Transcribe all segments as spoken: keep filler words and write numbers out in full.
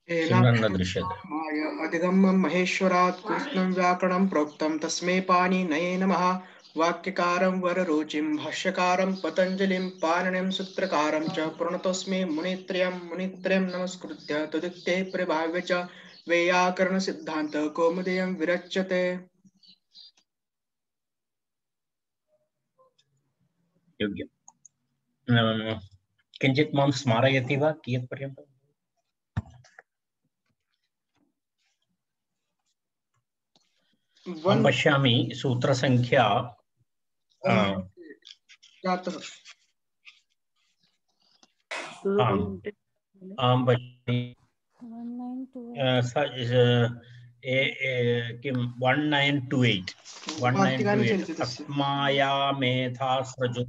सिमरन न दृश्यते। अधिगम्यं महेश्वरात् कृष्णं व्याकरणं प्रोक्तं तस्मै पाणिनये नमः। वाक्यकारं वररुचिं भाष्यकारं पतञ्जलिं पाणिनिं सूत्रकारं च प्रणतोऽस्मि मुनित्रयं मुनित्रयं नमस्कृत्य तदुक्ते प्रभाव्य च वैयाकरणसिद्धान्त कौमुदीयं विरच्यते। योग्यम्। किञ्चित् मां स्मारयति वा कियत् पर्यन्तम्? अहं पश्यामि सूत्रसङ्ख्या जातः आं पश्यामि किं one nine two eight one nine two eight अस्माया मेधास्रजो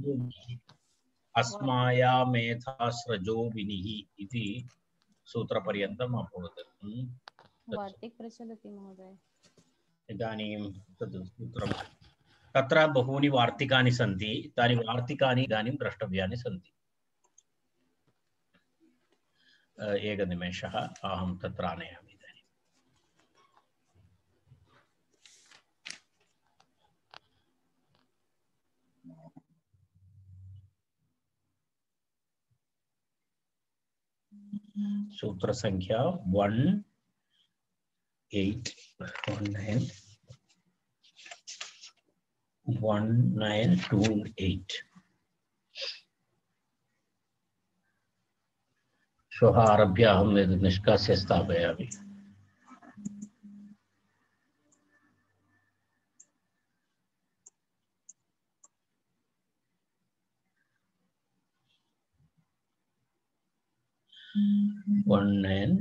अस्माया मेधास्रजो विनिः इति सूत्रपर्यन्तम् अभवत्। वार्तिक प्रचलति महोदय। इदानीं तद् सूत्रं तत्र बहूनि वार्तिकानि सन्ति। तानि वार्तिकानि इदानीं द्रष्टव्यानि सन्ति। एकनिमेषः अहं तत्र आनयामि इदानीं। सूत्रसङ्ख्या one eight one nine one nine two eight। श्वः आरभ्य अहम् एतत् निष्कास्य स्थापयामि। one nine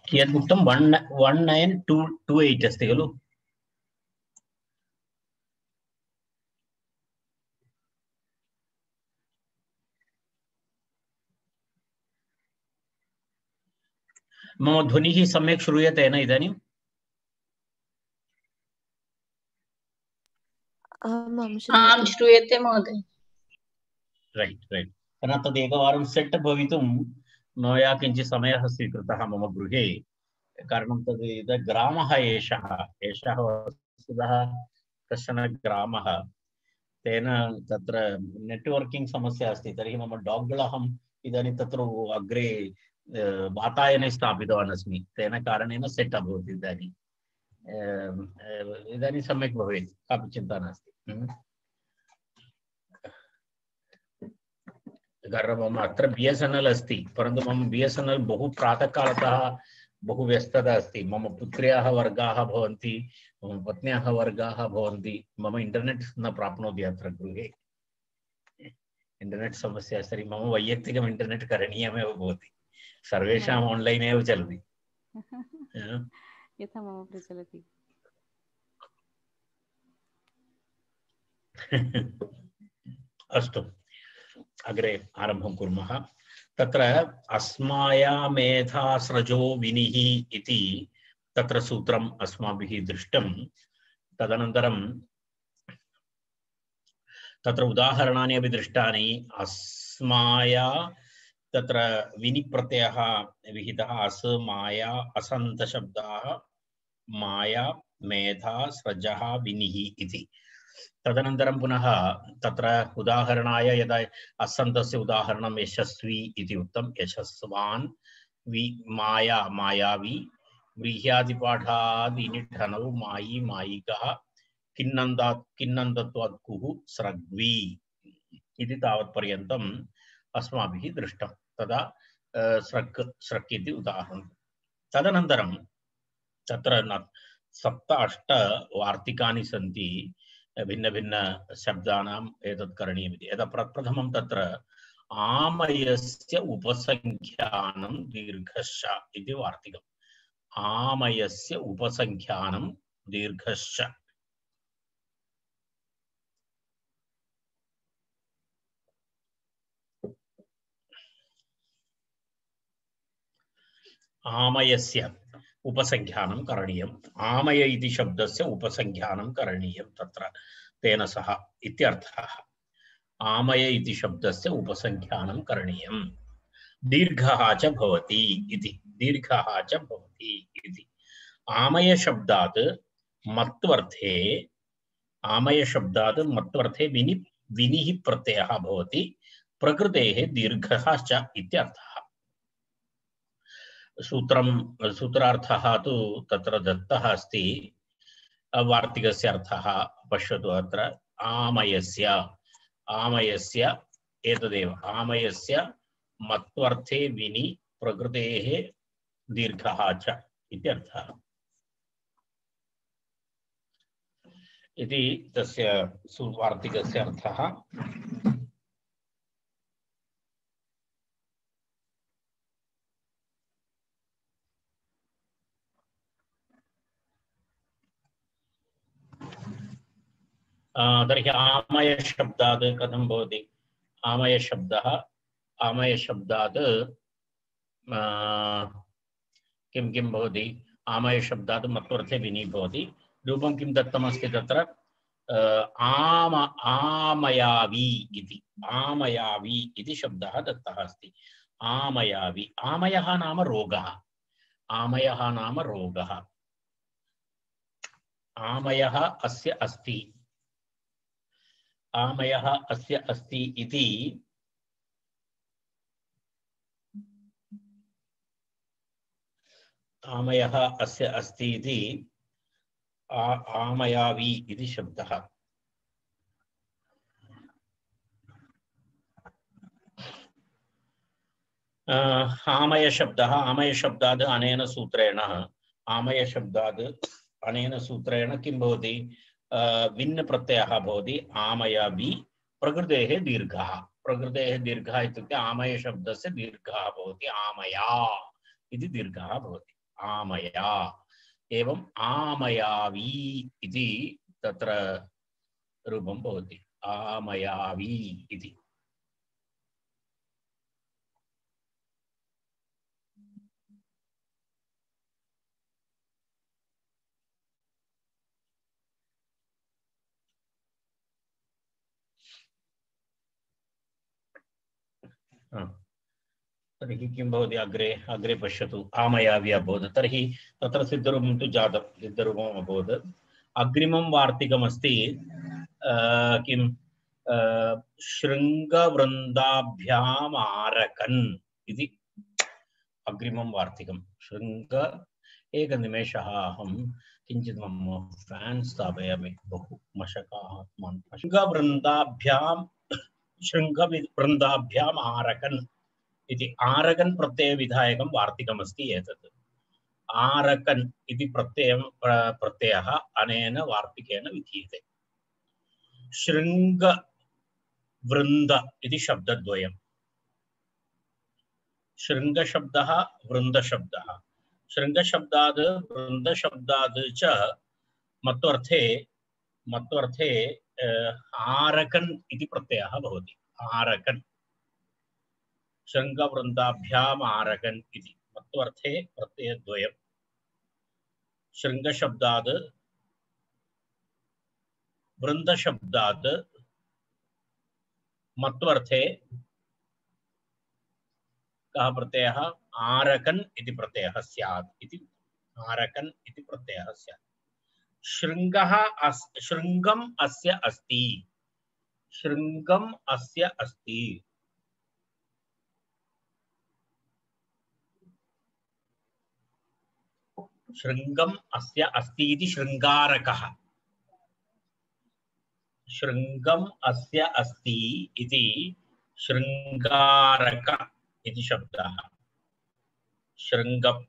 कियत् उक्तं one one nine two two eight अस्ति खलु? मम ध्वनिः सम्यक् श्रूयते न इदानीं? आं श्रूयते महोदय। रैट् रैट् तर्हि तदेकवारं सेट् भवितुं मया किञ्चित् समयः स्वीकृतः मम गृहे। कारणं तद् इदं ग्रामः एषः एषः वस्तुतः कश्चन ग्रामः। तेन तत्र नेट्वर्किङ्ग् समस्या अस्ति। तर्हि मम डाग् अहम् इदानीं तत्र अग्रे वातायने स्थापितवान् अस्मि। तेन कारणेन सेट् अभवत्। इदानीम् इदानीं सम्यक् भवेत्, कापि चिन्ता नास्ति। कारण मम अत्र बी एस् एन् एल् अस्ति, परन्तु मम बी एस् एन् एल् बहु प्रातःकालतः बहु व्यस्तता अस्ति। मम पुत्र्याः वर्गाः भवन्ति, मम पत्न्याः वर्गाः भवन्ति। मम इण्टर्नेट् न प्राप्नोति अत्र गृहे। इण्टर्नेट् समस्या अस्ति। तर्हि मम वैयक्तिकम् इण्टर्नेट् करणीयमेव भवति। सर्वेषाम् आन्लैन् एव चलति। यथा मम प्रचलति। अस्तु, अग्रे आरम्भं कुर्मः। तत्र अस्माया मेधास्रजो विनिः इति तत्र सूत्रम् अस्माभिः दृष्टं। तदनन्तरं तत्र उदाहरणानि अपि दृष्टानि। अस्माया तत्र विनिप्रत्ययः विहितः। अस् माया असन्तशब्दाः माया मेधा स्रजः विनिः इति। तदनन्तरं पुनः तत्र उदाहरणाय यदा असन्तस्य उदाहरणं यशस्वी इति उक्तं। यशस्वान् वि माया मायावी व्रीह्यादिपाठादिनिठनौ मायी मायिकः किन्नन्दात् किन्नन्दत्वात् कुः स्रग्वी इति तावत्पर्यन्तम् अस्माभिः दृष्टं। तदा स्रक् स्रक् इति उदाहरणं। तदनन्तरं तत्र सप्त अष्ट वार्तिकानि सन्ति। भिन्न भिन्न शब्दानाम् एतत् करणीयमिति। यदा प्रप्रथमं तत्र आमयस्य उपसंख्यानं दीर्घश्च इति वार्तिकम्। आमयस्य उपसंख्यानं दीर्घश्च। आमयस्य उपसंख्यानं करणीयम् आमय इति शब्दस्य उपसंख्यानं करणीयं तत्र तेन सह इत्यर्थः आमय इति शब्दस्य उपसंख्यानं करणीयं दीर्घः च भवति इति दीर्घः च भवति इति आमय शब्दात् मत्वर्थे आमय शब्दात् मत्वर्थे विनि विनिः प्रत्ययः भवति प्रकृतेः दीर्घः च इत्यर्थः सूत्रं सूत्रार्थः तु तत्र दत्तः अस्ति वार्तिकस्य अर्थः पश्यतु अत्र आमयस्य आमयस्य एतदेव आमयस्य मत्वर्थे विनि प्रकृतेः दीर्घः च इत्यर्थः इति तस्य वार्तिकस्य अर्थः तर्हि आमय शब्दात् कथं भवति आमय शब्दः आमय शब्दात् किं किं भवति आमय शब्दात् मत्वर्थे विनि भवति रूपं किं दत्तमस्ति तत्र आम आमयावि इति आमयावि इति शब्दः दत्तः अस्ति आमयावि आमयः नाम रोगः आमयः नाम रोगः आमयः अस्य अस्ति आमयः अस्य अस्ति इति आमयः अस्य अस्ति इति आमयावि इति शब्दः आमय शब्दः आमय शब्दात् अनेन सूत्रेण आमय शब्दात् अनेन सूत्रेण किं भवति भिन्न प्रत्ययः भवति आमयावि प्रकृतेः दीर्घः प्रकृतेः दीर्घः इत्युक्ते आमय शब्दस्य दीर्घः भवति आमया इति दीर्घः भवति आमया एवं आमयावि इति तत्र रूपं भवति आमयावि इति तर्हि किं भवति अग्रे अग्रे पश्यतु आमयावि अभवत् तर्हि तत्र सिद्धरूपं तु जातं सिद्धरूपम् अभवत् अग्रिमं वार्तिकमस्ति किं शृङ्गवृन्दाभ्याम् आरकन् इति अग्रिमं वार्तिकं शृङ्ग एकनिमेषः अहं किञ्चित् मम फ्यान् स्थापयामि बहु मशकाः शृङ्गवृन्दाभ्यां शृङ्गवृन्दाभ्याम् आरकन् इति आरकन् प्रत्यय विधायकं वार्तिकमस्ति एतत् आरकन् इति प्रत्ययं प्रत्ययः अनेन वार्तिकेन विधीयते शृङ्गवृन्द इति शब्दद्वयं शृङ्गशब्दः वृन्दशब्दः शृङ्गशब्दात् वृन्दशब्दात् च मत्वर्थे मत्वर्थे आरकन् इति प्रत्ययः भवति आरकन् शृङ्गवृन्दाभ्याम् आरकन् इति मत्वर्थे प्रत्ययद्वयं शृङ्गशब्दात् वृन्दशब्दात् मत्वर्थे कः प्रत्ययः आरकन् इति प्रत्ययः स्यात् इति आरकन् इति प्रत्ययः स्यात् शृङ्गः अस् शृङ्गम् अस्य अस्ति शृङ्गम् अस्य अस्ति शृङ्गम् अस्य अस्ति इति शृङ्गारकः शृङ्गम् अस्य अस्ति इति शृङ्गारक इति शब्दः शृङ्गं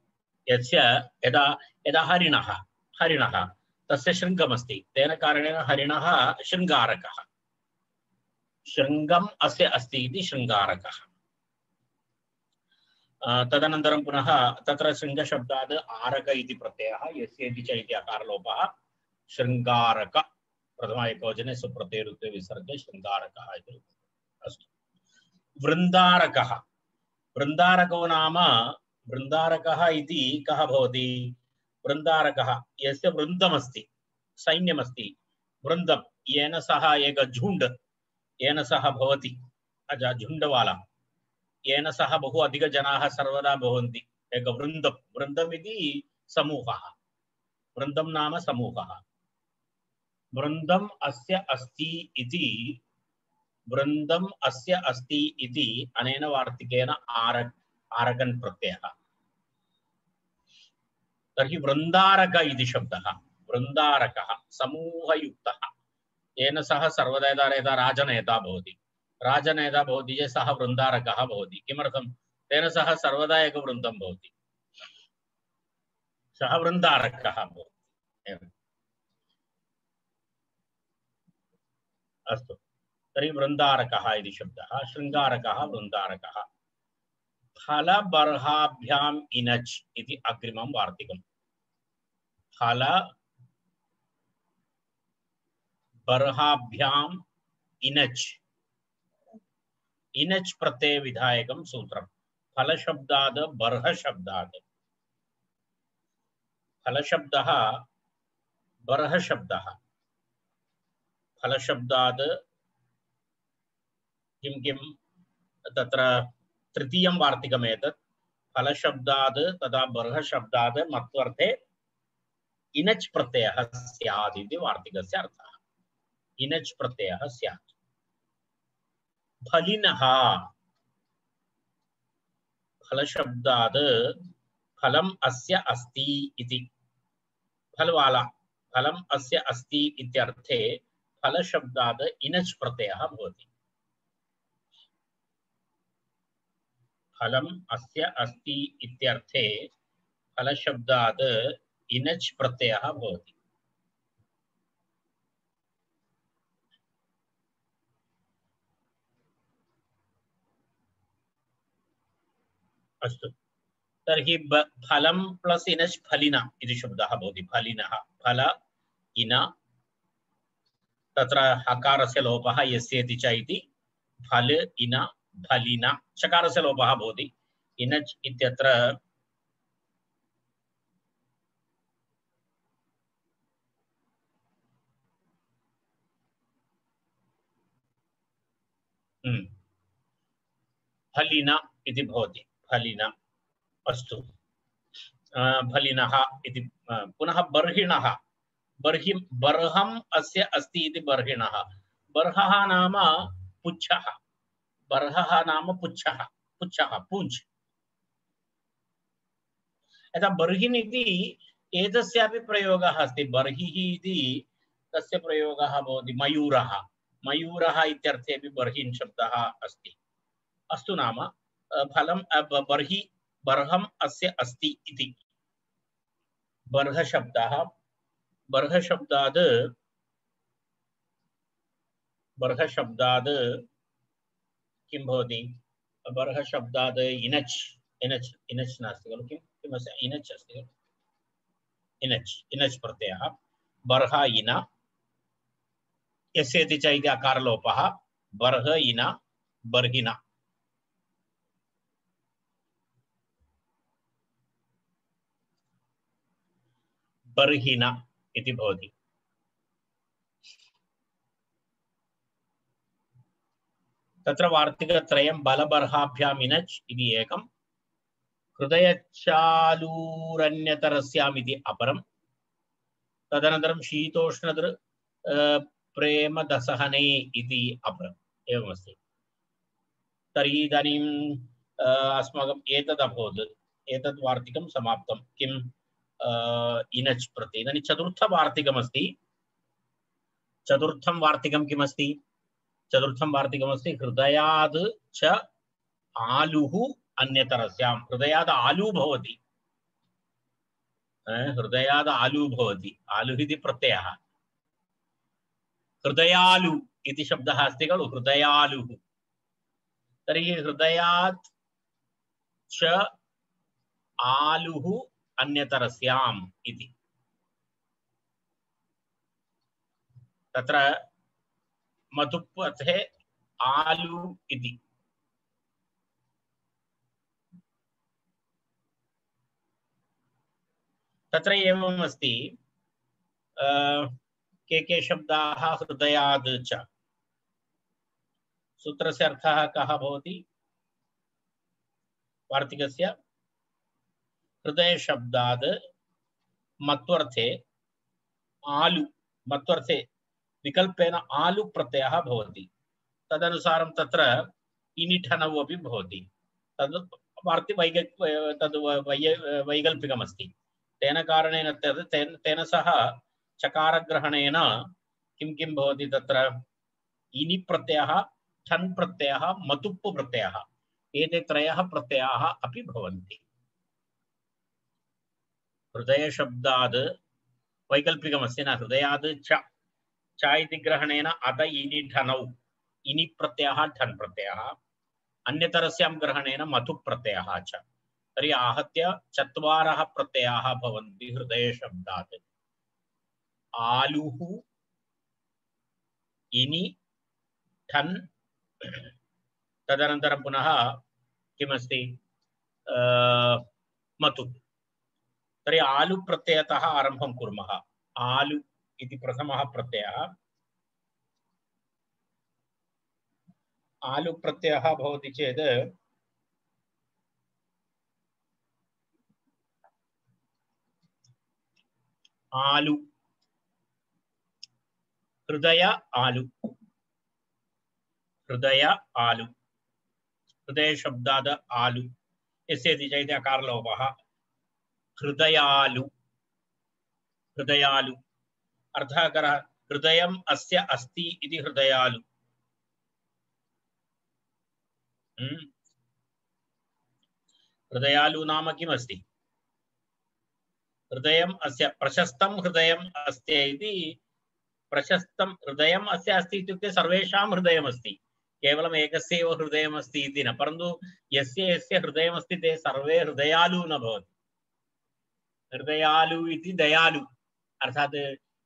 यस्य यदा यदा हरिणः हरिणः तस्य शृङ्गमस्ति तेन कारणेन हरिणः शृङ्गारकः शृङ्गम् अस्य अस्ति इति शृङ्गारकः तदनन्तरं पुनः तत्र शृङ्गशब्दात् आरक इति प्रत्ययः यस्य इति च इति अकारलोपः शृङ्गारक प्रथम एकवचने सुप्रत्ययरुत्वे विसर्गे शृङ्गारकः इति अस्तु वृन्दारकः वृन्दारको नाम वृन्दारकः इति कः भवति वृन्दारकः यस्य वृन्दमस्ति सैन्यमस्ति वृन्दं येन सह एक झुण्ड येन सह भवति अजा झुण्डवाला येन सह बहु अधिकजनाः सर्वदा भवन्ति एक वृन्दं वृन्दम् इति समूहः वृन्दं नाम समूहः वृन्दम् अस्य अस्ति इति वृन्दम् अस्य अस्ति इति अनेन वार्तिकेन आर आरगन् प्रत्ययः तर्हि वृन्दारक इति शब्दः वृन्दारकः समूहयुक्तः येन सह सर्वदा यदा यदा राजनेता भवति राजनेता भवति चेत् सः वृन्दारकः भवति किमर्थं तेन सह सर्वदा एक वृन्दं भवति सः वृन्दारकः भवति अस्तु तर्हि वृन्दारकः इति शब्दः शृङ्गारकः वृन्दारकः फलबर्हाभ्याम् इनच् इति अग्रिमं वार्तिकम् फल बर्हाभ्याम् इनच् इनच् प्रत्यय विधायकं सूत्रं फल शब्दात् बर्ह शब्दात् फल शब्दः बर्ह शब्दः फल शब्दात् किं किं तत्र तृतीयं वार्तिकम् एतत् फल शब्दात् तथा बर्ह शब्दात् मत्वर्थे इनच् प्रत्ययः स्यात् इति वार्तिकस्य अर्थः इनच् प्रत्ययः स्यात् फलिनः फल शब्दात् फलम् अस्य अस्ति इति फलवाला फलम् अस्य अस्ति इत्यर्थे फल शब्दात् इनच् प्रत्ययः भवति फलम् अस्य अस्ति इत्यर्थे फल शब्दात् इनच् प्रत्ययः भवति अस्तु तर्हि फलं प्लस इनच् फलिन इति शब्दः भवति फलिनः फल इन तत्र हकारस्य लोपः यस्येति च इति फल इन फलिन चकारस्य लोपः भवति इनच् इत्यत्र फलिन इति भवति फलिन अस्तु फलिनः इति पुनः बर्हिणः बर्हि बर्हम् अस्य अस्ति इति बर्हिणः बर्हः नाम पुच्छः बर्हः नाम पुच्छः पुच्छः पूञ्छ यथा बर्हिन् इति एतस्यापि प्रयोगः अस्ति बर्हिः इति तस्य प्रयोगः भवति मयूरः मयूरः इत्यर्थेपि बर्हिन् शब्दः अस्ति अस्तु नाम फलं बर्हि बर्हम् अस्य अस्ति इति बर्ह शब्दः बर्ह शब्दात् बर्ह शब्दात् किं भवति बर्ह शब्दात् इनच् इनच् इनच् नास्ति खलु किं किमस्ति इनच् अस्ति खलु इनच् इनच् प्रत्ययः बर्ह इन यस्येति च इति अकारलोपः बर्ह इन बर्हिन बर्हिन इति भवति तत्र वार्तिकत्रयं बलबर्हाभ्याम् इनच् इति एकं हृदयचालूरन्यतरस्याम् इति अपरं तदनन्तरं शीतोष्णदृ प्रेम दसहने इति अपरम् एवमस्ति तर्हि इदानीं अस्माकम् एतद् अभवत् एतद् वार्तिकं समाप्तं किम् इनच् प्रति इदानीं चतुर्थवार्तिकमस्ति चतुर्थं वार्तिकं किमस्ति चतुर्थं वार्तिकमस्ति हृदयाद् च आलुः अन्यतरस्यां हृदयाद् आलू भवति हृदयाद् आलू भवति आलुः इति प्रत्ययः हृदयालु इति शब्दः अस्ति खलु हृदयालुः तर्हि हृदयात् च आलुः अन्यतरस्याम् इति तत्र मधुपथे आलू इति तत्र एवम् अस्ति के के शब्दाः हृदयाद् च सूत्रस्य अर्थः कः भवति वार्तिकस्य हृदय शब्दाद् मत्वर्थे आलु मत्वर्थे विकल्पेन आलु प्रत्ययः भवति तदनुसारं तत्र इनिठनौ अपि भवति तद् वार्ति वैग तद् वैकल्पिकमस्ति तेन कारणेन तेन तेन सह चकारग्रहणेन किं किं भवति तत्र इनि प्रत्ययः ठन् प्रत्ययः मतुप्पु प्रत्ययः एते त्रयः प्रत्ययाः अपि भवन्ति हृदय शब्दाद् वैकल्पिकमस्ति न हृदयाद् च च इति ग्रहणेन अत इनि ठनौ इनि प्रत्ययः ठन् प्रत्ययः अन्यतरस्यां ग्रहणेन मतु प्रत्ययः च तर्हि आहत्य चत्वारः प्रत्ययाः भवन्ति हृदय शब्दात् आलुः इनि ठन् तदनन्तरं पुनः किमस्ति मतु तर्हि आलु प्रत्ययतः आरम्भं कुर्मः आलु इति प्रथमः प्रत्ययः आलु प्रत्ययः भवति चेत् आलु हृदय आलु हृदय आलु हृदय शब्दाद् आलु यस्य चैत अकारलोपः हृदयालु हृदयालु अर्थः करः हृदयम् अस्य अस्ति इति हृदयालु हृदयालु नाम किमस्ति हृदयम् अस्य प्रशस्तं हृदयम् अस्ति इति प्रशस्तं हृदयम् अस्य अस्ति इत्युक्ते सर्वेषां हृदयमस्ति केवलम् एकस्यैव हृदयमस्ति इति न परन्तु यस्य यस्य हृदयमस्ति ते सर्वे हृदयालु न भवति हृदयालु इति दयालु अर्थात्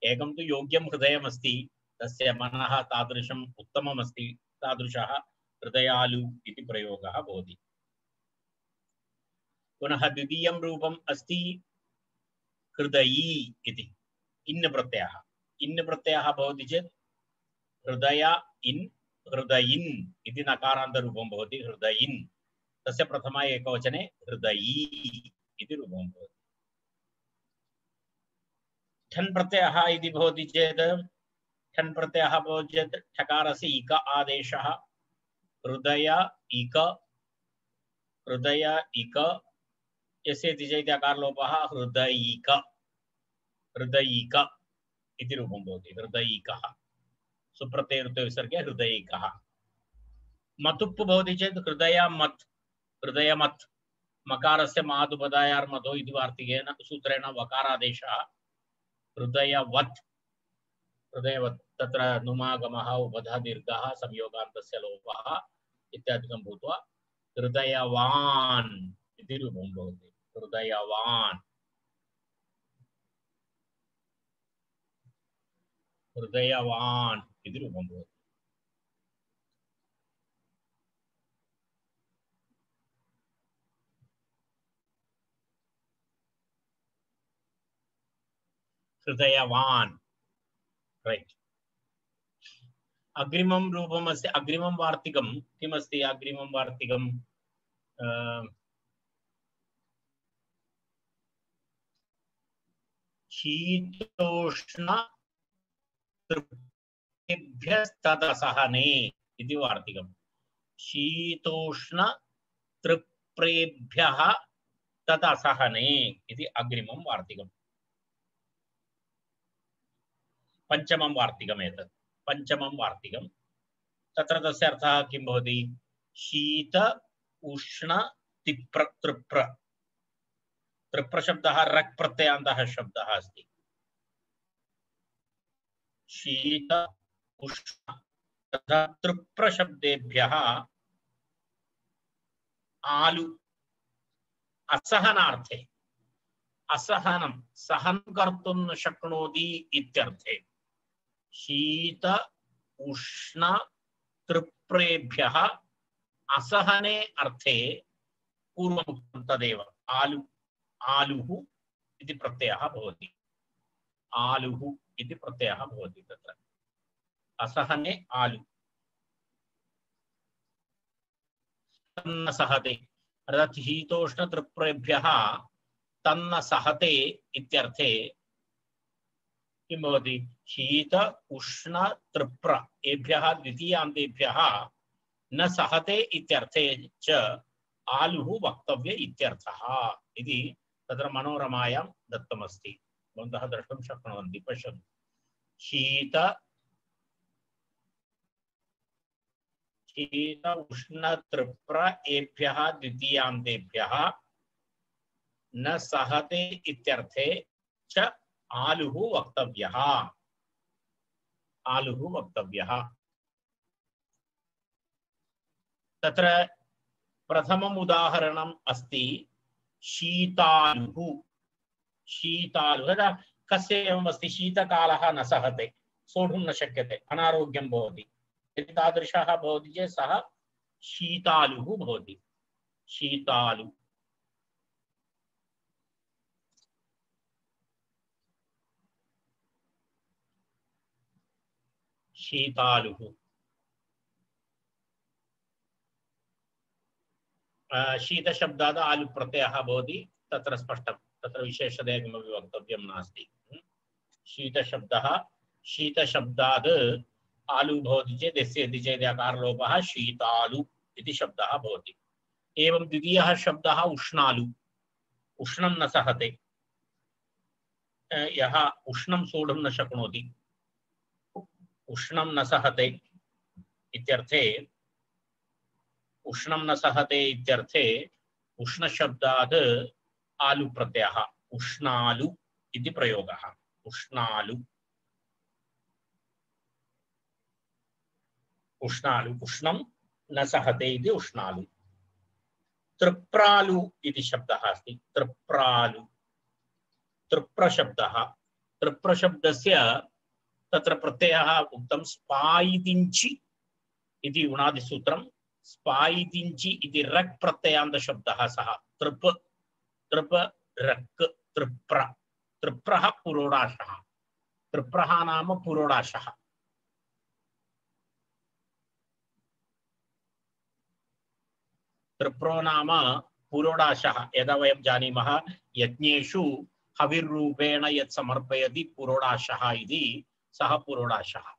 एकं तु योग्यं हृदयमस्ति तस्य मनः तादृशम् उत्तममस्ति तादृशः हृदयालु इति प्रयोगः भवति पुनः द्वितीयं रूपम् अस्ति हृदयी इति इन् प्रत्ययः इन् प्रत्ययः भवति चेत् हृदय इन् हृदयिन् इति नकारान्तरूपं भवति हृदयिन् तस्य प्रथमा एकवचने हृदयी इति रूपं भवति ठन् प्रत्ययः इति भवति चेत् ठन् प्रत्ययः भवति चेत् ठकारस्य इक आदेशः हृदय इक हृदय इक यस्य चैत अकारलोपः हृदयिक हृदयिक इति रूपं भवति हृदयिकः सुप्रत्यय विसर्गे हृदयिकः मतुप्पु भवति चेत् हृदयमत् हृदयमत् मकारस्य मातुपदायार्मतो इति वार्तिकेन सूत्रेण वकारादेशः हृदयवत् हृदयवत् तत्र नुमागमः उपधा दीर्घः संयोगान्तस्य लोपः इत्यादिकं भूत्वा हृदयवान् इति रूपं भवति हृदयवान् हृदयवान् इति रूपं भवति हृदयवान् राइट अग्रिमं रूपम् अस्ति अग्रिमं वार्तिकं किमस्ति अग्रिमं वार्तिकं शीतोष्ण तृप्रेभ्यस्तदसहने इति वार्तिकं शीतोष्ण तृप्रेभ्यः तदसहने इति अग्रिमं वार्तिकं पंचमं वार्तिकम् एतत् पंचमं वार्तिकं तत्र तस्य अर्थः किं भवति शीत उष्ण तिप्र तृप्र तृप्र शब्दः रक् प्रत्ययान्तः शब्दः अस्ति शीत उष्ण तथा तृप्र शब्देभ्यः आलु असहनार्थे असहनं सहन कर्तुं न शक्नोति इत्यर्थे शीत उष्ण तृप्रेभ्यः असहने अर्थे पूर्वमुक्तं तदेव आलु आलुः इति प्रत्ययः भवति आलुः इति प्रत्ययः भवति तत्र असहने आलु तन्न सहते अर्थात् शीतोष्ण तृप्रेभ्यः तन्न सहते इत्यर्थे किं भवति शीत उष्ण तृप्र एभ्यः द्वितीयान्तेभ्यः न सहते इत्यर्थे च आलुः वक्तव्य इत्यर्थः इति तत्र मनोरमायां दत्तमस्ति भवन्तः द्रष्टुं शक्नुवन्ति पश्यन्तु शीत शीत उष्ण तृप्र एभ्यः द्वितीयान्तेभ्यः न सहते इत्यर्थे च आलुः वक्तव्यः आलुः वक्तव्यः तत्र प्रथमम् उदाहरणम् अस्ति शीतालुः शीतालुः कस्य एवम् अस्ति शीतकालः न सहते सोढुं न शक्यते अनारोग्यं भवति यदि तादृशः भवति चेत् सः शीतालुः भवति शीतालु शीतालुः शीतशब्दात् आलु प्रत्ययः भवति तत्र स्पष्टं तत्र विशेषतया किमपि वक्तव्यं नास्ति शीतशब्दः शीतशब्दात् आलु भवति चेत् यस्य इति चेत् अकारलोपः शीतालु इति शब्दः भवति एवं द्वितीयः शब्दः उष्णालु उष्णं न सहते यः उष्णं सोढुं न शक्नोति उष्णं न सहते इत्यर्थे उष्णं न सहते इत्यर्थे उष्णशब्दात् आलु प्रत्ययः उष्णालु इति प्रयोगः उष्णालु उष्णालु उष्णं न सहते इति उष्णालु तृप्रालु इति शब्दः अस्ति तृप्रालु तृप्रशब्दः तृप्रशब्दस्य तत्र प्रत्ययः उक्तं स्पायितिञ्चि इति उणादिसूत्रं स्पायितिञ्चि इति रक् प्रत्ययान्त शब्दः सः तृप तृप रक् तृप्र तृप्रः पुरोडाशः तृप्रः नाम पुरोडाशः तृप्रो नाम पुरोडाशः यदा वयं जानीमः यज्ञेषु हविर्रूपेण यत् समर्पयति पुरोडाशः इति सः पुरोडाशः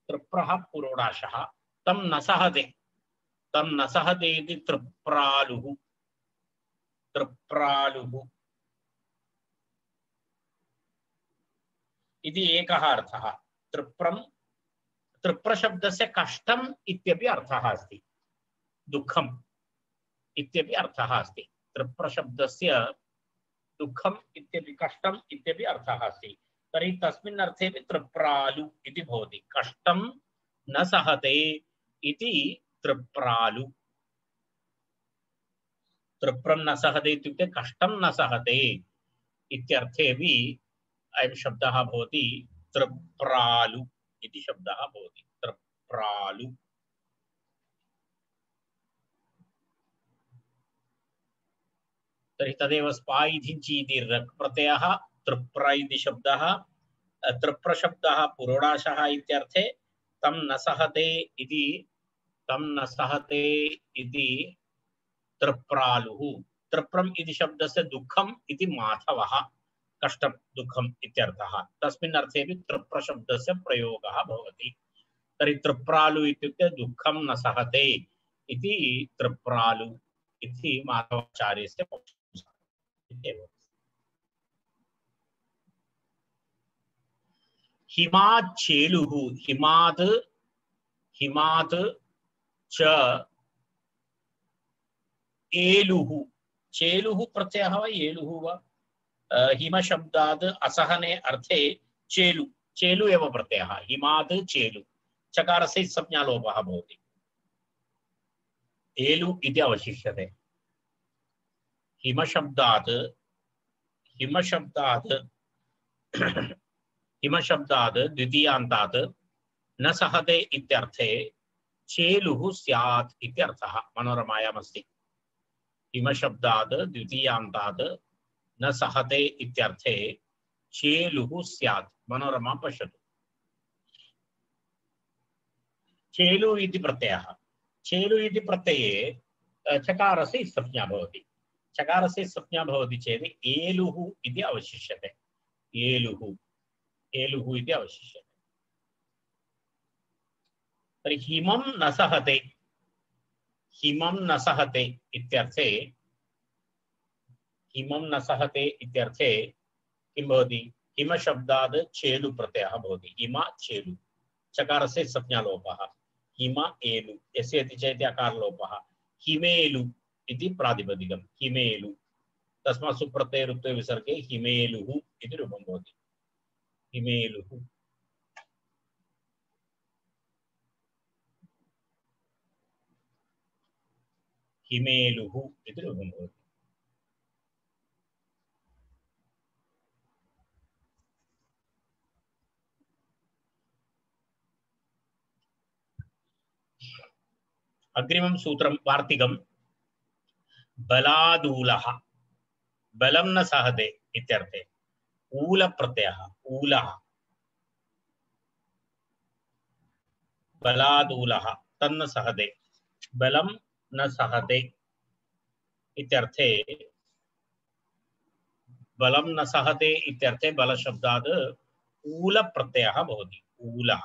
तृप्रः पुरोडाशः तं न सहते तं न सहते इति तृप्रालुः तृप्रालुः इति एकः अर्थः तृप्रं तृप्रशब्दस्य कष्टम् इत्यपि अर्थः अस्ति दुःखम् इत्यपि अर्थः अस्ति तृप्रशब्दस्य दुःखम् इत्यपि कष्टम् इत्यपि अर्थः अस्ति तर्हि तस्मिन् अर्थेपि तृप्रालु इति भवति कष्टं न सहते इति तृप्रालु तृप्रं न सहते इत्युक्ते कष्टं न सहते इत्यर्थेपि अयं शब्दः भवति तृप्रालु इति शब्दः भवति तृप्रालु तर्हि तदेव स्पायिधिञ्चि इति रक् प्रत्ययः तृप्र इति शब्दः तृप्रशब्दः पुरोडाशः इत्यर्थे तं न सहते इति तं न सहते इति तृप्रालुः तृप्रम् इति शब्दस्य दुःखम् इति माधवः कष्टं दुःखम् इत्यर्थः तस्मिन् अर्थेपि तृप्रशब्दस्य प्रयोगः भवति तर्हि तृप्रालु इत्युक्ते दुःखं न सहते इति तृप्रालु इति माधवाचार्यस्य पक्षः हिमात् चेलुः हिमात् हिमात् च एलुः चेलुः प्रत्ययः वा एलुः वा हिमशब्दात् असहने अर्थे चेलु चेलु एव प्रत्ययः हिमात् चेलु चकारस्य संज्ञालोपः भवति एलु इति अवशिष्यते हिमशब्दात् हिमशब्दात् हिमशब्दात् द्वितीयान्तात् न सहते इत्यर्थे चेलुः स्यात् इत्यर्थः मनोरमायाम् अस्ति हिमशब्दात् द्वितीयान्तात् न सहते इत्यर्थे चेलुः स्यात्। मनोरमा पश्यतु। चेलु इति प्रत्ययः। चेलु इति प्रत्यये चकारस्य संज्ञा भवति। चकारस्य संज्ञा भवति चेत् एलुः इति अवशिष्यते। एलुः एलुः इति अवशिष्यते। तर्हि हिमं न सहते, हिमं न सहते इत्यर्थे हिमं न सहते इत्यर्थे किं भवति? हिमशब्दात् चेलु प्रत्ययः भवति। हिम चेलु, चकारस्य संज्ञालोपः। हिम एलु, यस्य इति चेत् अकारलोपः। हिमेलु इति प्रातिपदिकं। हिमेलु, तस्मात् सुप्रत्यये रुत्वे विसर्गे हिमेलुः इति रूपं भवति। हिमेलुः। हिमेलुः इति रूपं भवति। अग्रिमं सूत्रं वार्तिकं बलादूलः। बलं न सहते इत्यर्थे ऊल प्रत्ययः। ऊलः बलादूलः तन्न सहते। बलं न सहते इत्यर्थे बलं न सहते इत्यर्थे बलशब्दात् ऊल प्रत्ययः भवति। ऊलः।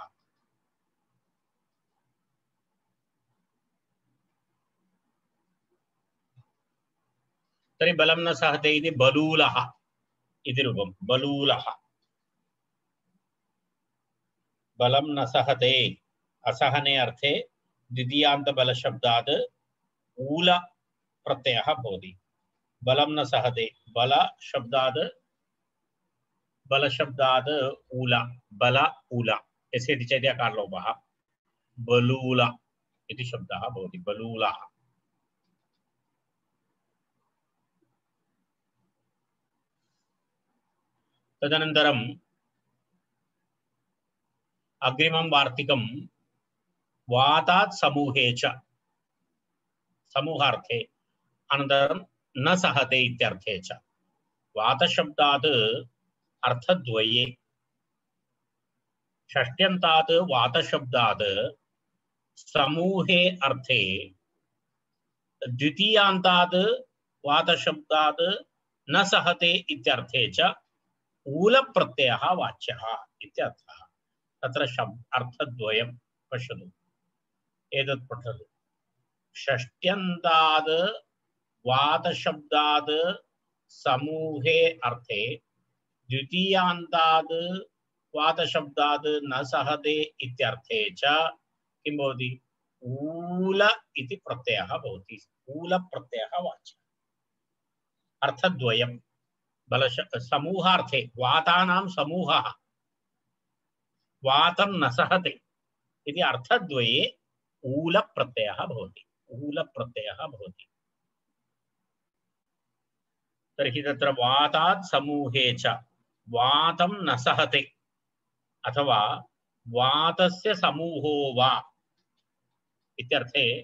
तर्हि बलं न सहते इति बलूलः इति रूपं। बलूलः। बलं न सहते असहने अर्थे द्वितीयान्त बलशब्दात् ऊल प्रत्ययः भवति। बलं न सहते बल शब्दात् बलशब्दात् ऊल। बल ऊल, यस्य इति चेत् अकारलोपः। बलूल इति शब्दः भवति। बलूलः। तदनन्तरम् अग्रिमं वार्तिकं वातात् समूहे च, समूहार्थे, अनन्तरं न सहते इत्यर्थे च। वातशब्दात् अर्थद्वये। षष्ट्यन्तात् वातशब्दात् समूहे अर्थे, द्वितीयान्तात् वातशब्दात् न सहते इत्यर्थे च ऊल प्रत्ययः वाच्यः इत्यर्थः। तत्र शब्द अर्थद्वयं पश्यतु। एतत् पठतु। षष्ट्यन्तात् वातशब्दात् समूहे अर्थे, द्वितीयान्तात् वातशब्दात् न सहते इत्यर्थे च किं भवति? ऊल इति प्रत्ययः भवति। ऊल प्रत्ययः वाच्यः। अर्थद्वयं। बलश समूहार्थे वातानां समूहः वातं न सहते इति अर्थद्वये ऊल प्रत्ययः भवति। ऊल प्रत्ययः भवति। तर्हि तत्र वातात् समूहे च वातं न सहते अथवा वातस्य समूहो वा इत्यर्थे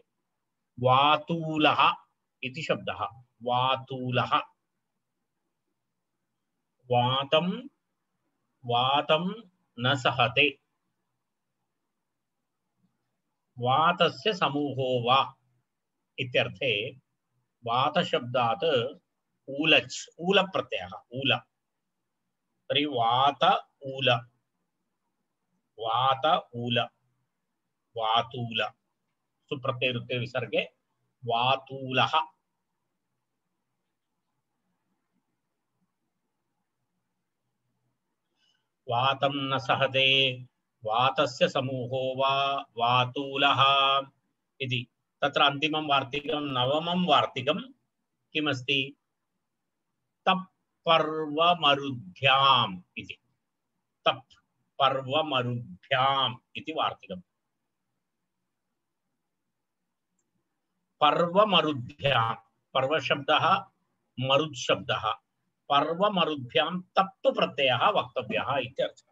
वातूलः इति शब्दः। वातूलः। वातं वातं न सहते वातस्य समूहो वा इत्यर्थे वातशब्दात् ऊलच् ऊल प्रत्ययः। ऊल। तर्हि वात ऊल, वात ऊल, वातूल, सुप्रत्यय रुत्वे विसर्गे वातूलः। वातं न सहते वातस्य समूहो वा वातूलः इति। तत्र अन्तिमं वार्तिकं नवमं वार्तिकं किमस्ति? तप् पर्वमरुद्भ्याम् इति। तप् पर्वमरुद्भ्याम् इति वार्तिकम्। पर्वमरुद्भ्यां, पर्वशब्दः मरुत् शब्दः। पर्वमरुद्भ्यां तप् प्रत्ययः वक्तव्यः इत्यर्थः।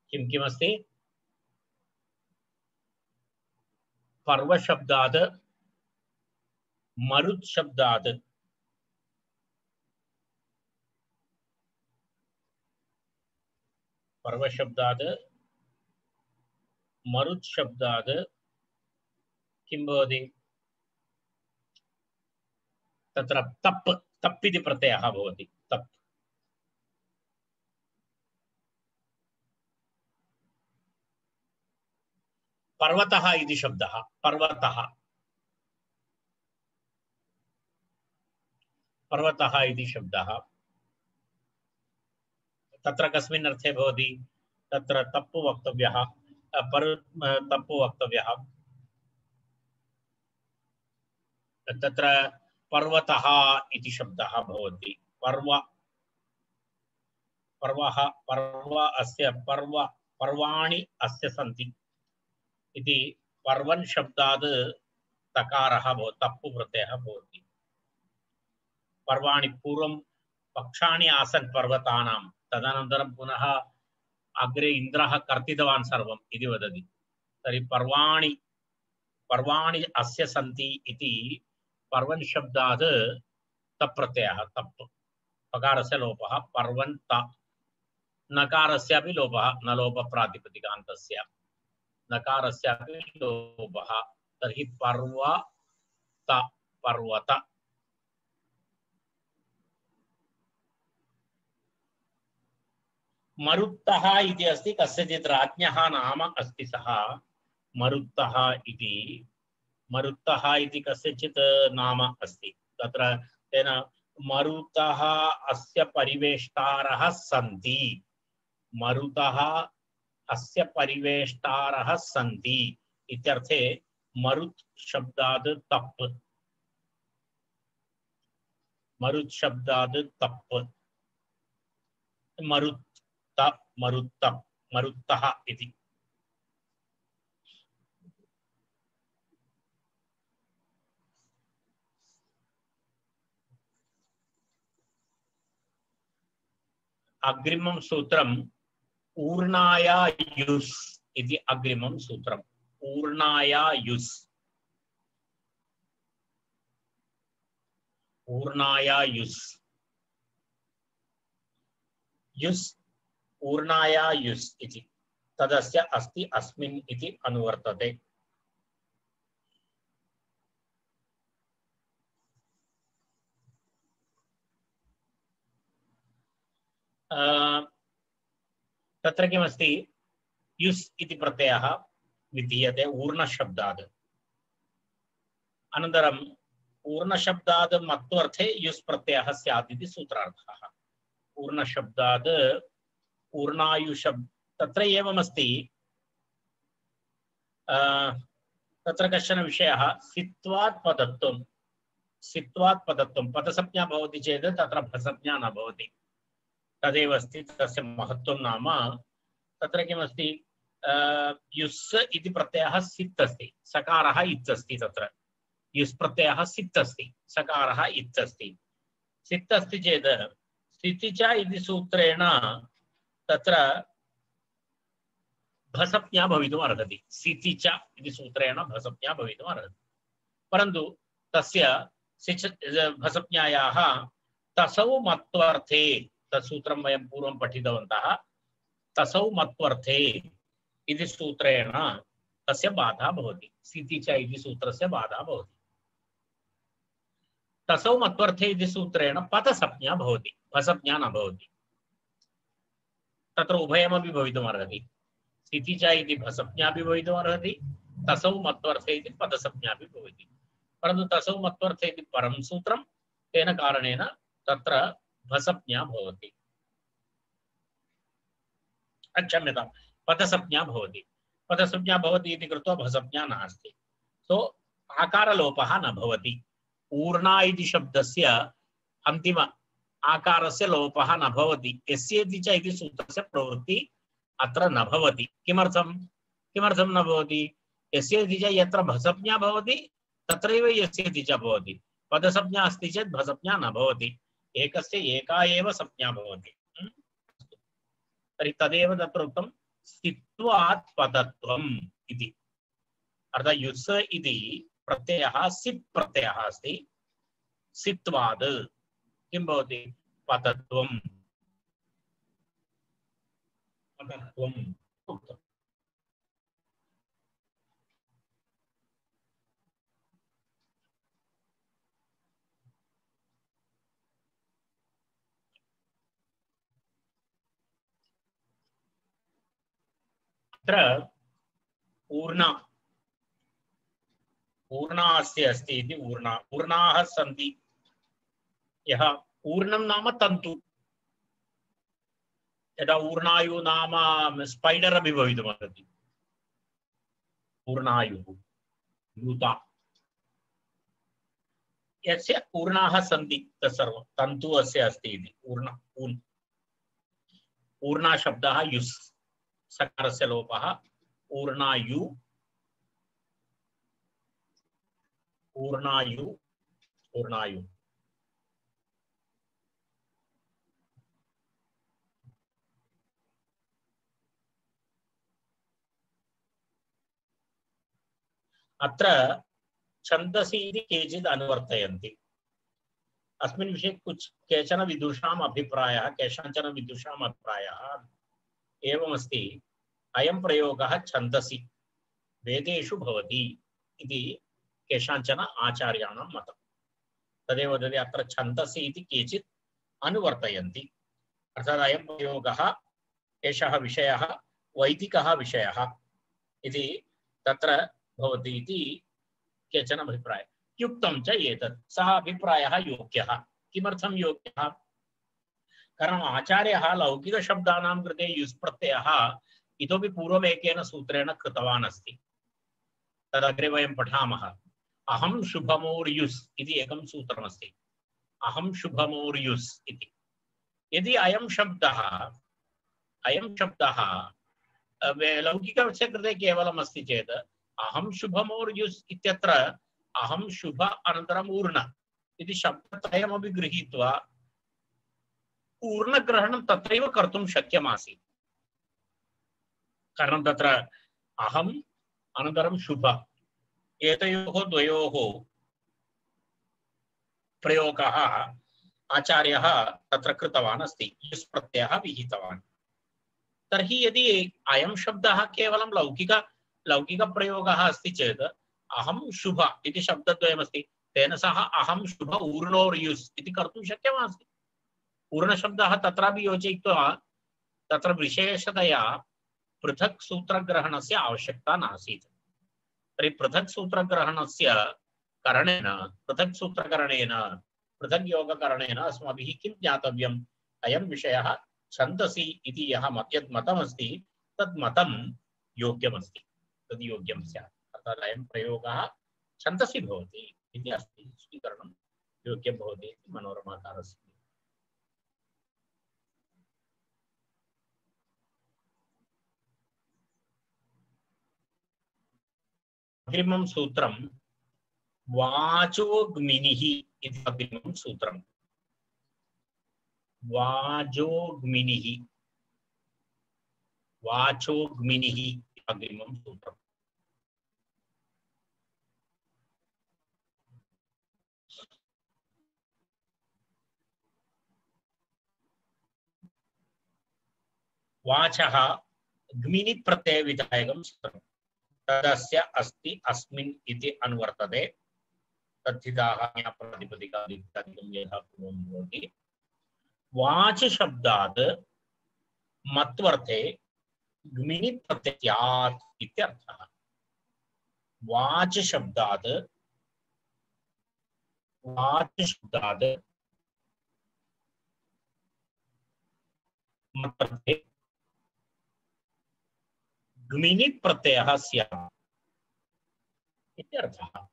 किं किमस्ति? पर्वशब्दात् मरुत् शब्दात् पर्वशब्दात् मरुत् शब्दात् किं भवति तत्र तप् तप् इति प्रत्ययः भवति तप् पर्वतः इति शब्दः पर्वतः पर्वतः इति शब्दः तत्र कस्मिन् अर्थे भवति तत्र तप्पु वक्तव्यः पर तप्पु वक्तव्यः तत्र पर्वतः इति शब्दः भवति पर्व पर्वः पर्व अस्य पर्व पर्वाणि अस्य सन्ति इति पर्वन् शब्दात् तकारः भवति तप्पु प्रत्ययः भवति पर्वाणि पूर्वं पक्षाणि आसन् पर्वतानां तदनन्तरं पुनः अग्रे इन्द्रः कर्तितवान् सर्वम् इति वदति तर्हि पर्वाणि पर्वाणि अस्य सन्ति इति पर्वन् शब्दात् तप् प्रत्ययः तप् पकारस्य लोपः पर्वन् त नकारस्यापि लोपः न लोपप्रातिपदिकान्तस्य नकारस्यापि लोपः तर्हि पर्वत पर्वत मरुत्तः इति अस्ति कस्यचित् राज्ञः नाम अस्ति सः मरुत्तः इति मरुत्तः इति कस्यचित् नाम अस्ति तत्र तेन मरुतः अस्य परिवेष्टारः सन्ति मरुतः अस्य परिवेष्टारः सन्ति इत्यर्थे मरुत् शब्दात् तप् मरुत् शब्दात् तप् मरुत् मरुत्त मरुत्तः इति अग्रिमं सूत्रम् ऊर्णाया युस् इति अग्रिमं सूत्रम् ऊर्णाया युस् ऊर्णाया युस् युस् ऊर्णाया युस् इति तदस्य अस्ति अस्मिन् इति अनुवर्तते तत्र किमस्ति युस् इति प्रत्ययः विधीयते ऊर्णशब्दात् अनन्तरम् ऊर्णशब्दात् मत्वर्थे युस् प्रत्ययः स्यात् इति सूत्रार्थः ऊर्णशब्दात् ऊर्णायुशब्द तत्र एवमस्ति तत्र कश्चन विषयः सित्वात् पदत्वं सित्वात् पदत्वं पदसंज्ञा भवति चेत् तत्र भसंज्ञा न भवति तदेव अस्ति तस्य महत्त्वं नाम तत्र किमस्ति युस् इति प्रत्ययः सित् अस्ति सकारः इत् अस्ति तत्र युस् प्रत्ययः सित् अस्ति सकारः इत् अस्ति सित् अस्ति चेत् स्थिति च इति सूत्रेण तत्र भसंज्ञा भवितुम् अर्हति स्थिति च इति सूत्रेण भसंज्ञा भवितुम् अर्हति परन्तु तस्य सिच् भसंज्ञायाः तसौ मत्वर्थे तत्सूत्रं वयं पूर्वं पठितवन्तः तसौ मत्वर्थे इति सूत्रेण तस्य बाधा भवति स्थिति च इति सूत्रस्य बाधा भवति तसौ मत्वर्थे इति सूत्रेण पदसंज्ञा भवति भसंज्ञा न भवति तत्र उभयमपि भवितुम् अर्हति स्थिति च इति भसंज्ञापि भवितुम् अर्हति तसौ मत्वर्थे इति पदसंज्ञापि भवति परन्तु तसौ मत्वर्थे इति परं सूत्रं तेन कारणेन तत्र भसंज्ञा भवति क्षम्यतां पदसंज्ञा भवति पदसंज्ञा भवति इति कृत्वा भसंज्ञा नास्ति सो आकारलोपः न भवति ऊर्णा इति शब्दस्य अन्तिम आकारस्य लोपः न भवति यस्येति च इति सूत्रस्य प्रवृत्ति अत्र न भवति किमर्थं किमर्थं न भवति यस्येति च यत्र भसंज्ञा भवति तत्रैव यस्येति च भवति पदसंज्ञा अस्ति चेत् भसंज्ञा न भवति एकस्य एका एव संज्ञा भवति तर्हि तदेव तत्र उक्तं स्थित्वात् पदत्वम् इति अर्थात् युस् इति प्रत्ययः सिप् प्रत्ययः अस्ति। सित्वाद् किं भवति? पतत्वं पतत्वम् उक्तम्। अत्र ऊर्णा ऊर्णा अस्य अस्ति इति ऊर्णा ऊर्णाः सन्ति। यः ऊर्णं नाम तन्तु। यदा ऊर्णायु नाम स्पैडर् अपि भवितुमर्हति। ऊर्णायुः लूता यस्य ऊर्णाः सन्ति तत्सर्वं तन्तु अस्य अस्ति इति ऊर्ण ऊन् ऊर्णा शब्दः युस् सकारस्य लोपः ऊर्णायु ऊर्णायु ऊर्णायु अत्र छन्दसि इति केचित् अनुवर्तयन्ति। अस्मिन् विषये कुछ केचन विदुषाम् अभिप्रायः केषाञ्चन विदुषाम् अभिप्रायः एवमस्ति। अयं प्रयोगः छन्दसि वेदेषु भवति इति केषाञ्चन आचार्याणां मतं। तदेव वदति अत्र छन्दसि इति केचित् अनुवर्तयन्ति। अर्थात् अयं प्रयोगः एषः विषयः वैदिकः विषयः इति तत्र भवति इति केचन अभिप्रायः। युक्तं च एतत् सः अभिप्रायः योग्यः। किमर्थं योग्यः? कारणम् आचार्यः लौकिकशब्दानां कृते युस् प्रत्ययः इतोपि पूर्वमेकेन सूत्रेण कृतवान् अस्ति। तदग्रे वयं पठामः। अहं शुभमोर्युस् इति एकं सूत्रमस्ति। अहं शुभमोर्युस् इति। यदि अयं शब्दः अयं शब्दः लौकिकस्य कृते केवलम् अस्ति चेत् अहं शुभमोर्युस् इत्यत्र अहं शुभ अनन्तरम् ऊर्ण इति शब्दत्रयमपि गृहीत्वा ऊर्णग्रहणं तत्रैव कर्तुं शक्यमासीत्। कारणं तत्र अहम् अनन्तरं शुभ एतयोः द्वयोः प्रयोगः आचार्यः तत्र कृतवान् अस्ति। युस् प्रत्ययः विहितवान्। तर्हि यदि अयं शब्दः केवलं लौकिक लौकिकप्रयोगः अस्ति चेत् अहं शुभ इति शब्दद्वयमस्ति तेन सह अहं शुभ ऊर्णोर्युस् इति कर्तुं शक्यमासीत्। ऊर्णशब्दः तत्रापि योजयित्वा तत्र विशेषतया पृथक् सूत्रग्रहणस्य आवश्यकता नासीत्। तर्हि पृथक् सूत्रग्रहणस्य करणेन पृथक् सूत्रकरणेन पृथक् योगकरणेन अस्माभिः किं ज्ञातव्यम्? अयं विषयः छन्दसि इति यः यद् मतमस्ति तद् मतं योग्यमस्ति, तद् योग्यं स्यात्। अर्थात् अयं प्रयोगः छन्दसि भवति इति अस्ति, स्वीकरणं योग्यं भवति इति मनोरमाकारस्य। अग्रिमं सूत्रं वाचोग्मिनिः इति अग्रिमं सूत्रम्। वाचोग्मिनिः वाचोग्मिनिः अग्रिमं सूत्रम्। वाचः ग्मिनि प्रत्ययविधायकं सूत्रम्। तदस्य अस्ति अस्मिन् इति अनुवर्तते। तद्धिताः ज्ञाप्रातिपदिकादित्यादिकं यथा पूर्वं भवति। वाच शब्दात् मत्वर्थे ग्मिनि प्रत्ययात् इत्यर्थः। वाच शब्दात् वाच शब्दात् मत्वर्थे ग्मिनि प्रत्ययः स्यात् इत्यर्थः।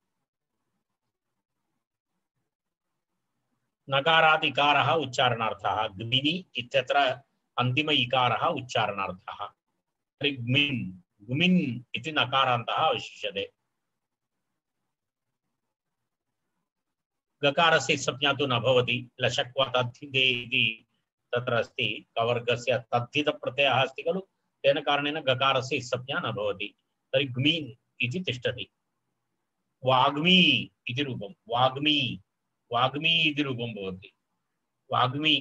नकारादिकारः उच्चारणार्थः, ग्मिनि इत्यत्र अन्तिम इकारः उच्चारणार्थः। तर्हि ग्मिन् ग्मिन् इति नकारान्तः अवशिष्यते। गकारस्य संज्ञा तु न भवति। लशक्वा तद्धिते इति तत्र अस्ति। कवर्गस्य तद्धितप्रत्ययः अस्ति खलु, तेन कारणेन गकारस्य संज्ञा न भवति। तर्हि ग्मीन् इति तिष्ठति वाग्मी इति रूपं वाग्मी वाग्मी इति रूपं भवति वाग्मी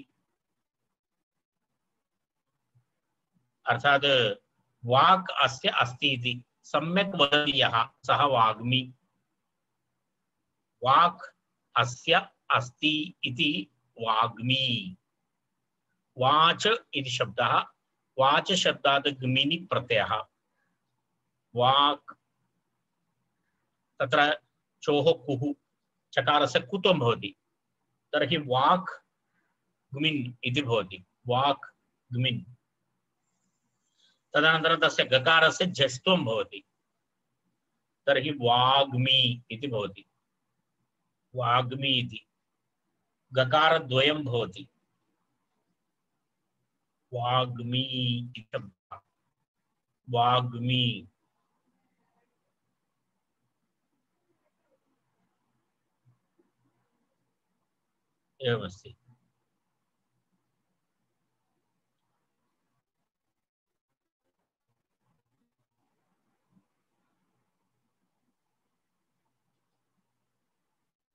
अर्थात वाक् अस्य अस्ति इति सम्यक् वदति यः सः वाग्मी वाक् अस्य अस्ति इति वाग्मी वाच इति शब्दः वाच शब्दात् ग्मिनि प्रत्ययः वाक् तत्र चोः कुः चकारस्य कुत्वं भवति तर्हि वाक् ग्मिन् इति भवति वाक् ग्मिन् तदनन्तरं तस्य गकारस्य झस्त्वं भवति तर्हि वाग्मी इति भवति वाग्मी इति गकारद्वयं भवति वाग्मी इति शब्दः वाग्मी एवमस्ति